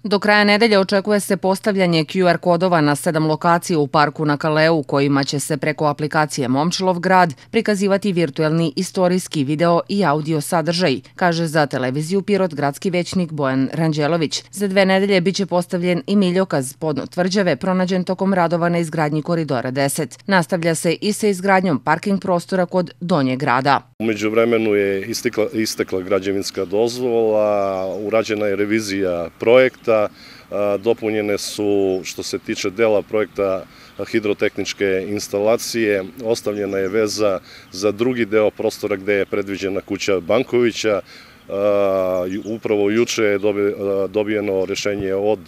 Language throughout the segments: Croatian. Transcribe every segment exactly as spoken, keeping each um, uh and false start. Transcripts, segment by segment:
Do kraja nedelje očekuje se postavljanje Q R kodova na sedam lokacija u parku na Kaleu, kojima će se preko aplikacije Momčilov grad prikazivati virtuelni istorijski video i audio sadržaj, kaže za televiziju Pirot gradski većnik Bojan Ranđelović. Za dve nedelje biće postavljen i miljokaz podno tvrđave pronađen tokom radova na izgradnji Koridora deset. Nastavlja se i sa izgradnjom parking prostora kod Donjeg grada. U međuvremenu je istekla, istekla građevinska dozvola, urađena je revizija projekta, dopunjene su, što se tiče dela projekta, hidrotehničke instalacije, ostavljena je veza za drugi deo prostora gde je predviđena kuća Bankovića. Upravo juče je dobijeno rešenje od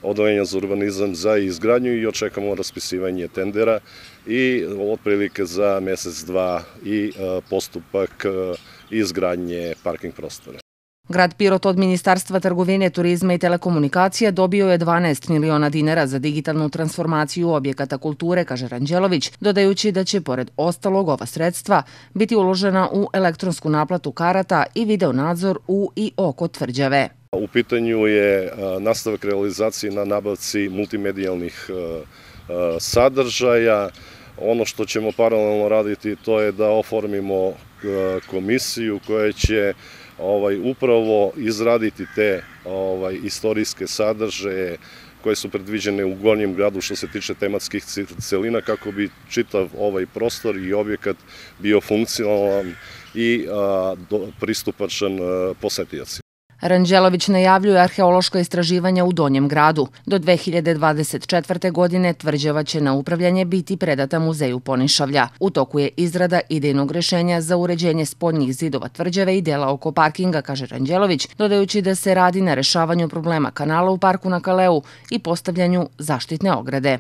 Odeljenja za urbanizam za izgradnju i očekamo raspisivanje tendera i otprilike za mesec, dva i postupak izgradnje parking prostora. Grad Pirot od Ministarstva trgovine, turizma i telekomunikacija dobio je dvanaest miliona dinara za digitalnu transformaciju objekata kulture, kaže Ranđelović, dodajući da će, pored ostalog, ova sredstva biti uložena u elektronsku naplatu karata i video nadzor u i oko tvrđave. U pitanju je nastavak realizacije na nabavci multimedijalnih sadržaja. Ono što ćemo paralelno raditi to je da oformimo komisiju koja će upravo izraditi te istorijske sadržaje koje su predviđene u Gornjem gradu što se tiče tematskih celina kako bi čitav ovaj prostor i objekat bio funkcionalan i pristupačan posetiocima. Ranđelović najavljuje arheološka istraživanja u Donjem gradu. Do dve hiljade dvadeset četvrte. godine tvrđava će na upravljanje biti predata Muzeju Ponišavlja. U toku je izrada idejnog rešenja za uređenje spoljnih zidova tvrđave i dela oko parkinga, kaže Ranđelović, dodajući da se radi na rešavanju problema kanala u parku na Kaleu i postavljanju zaštitne ograde.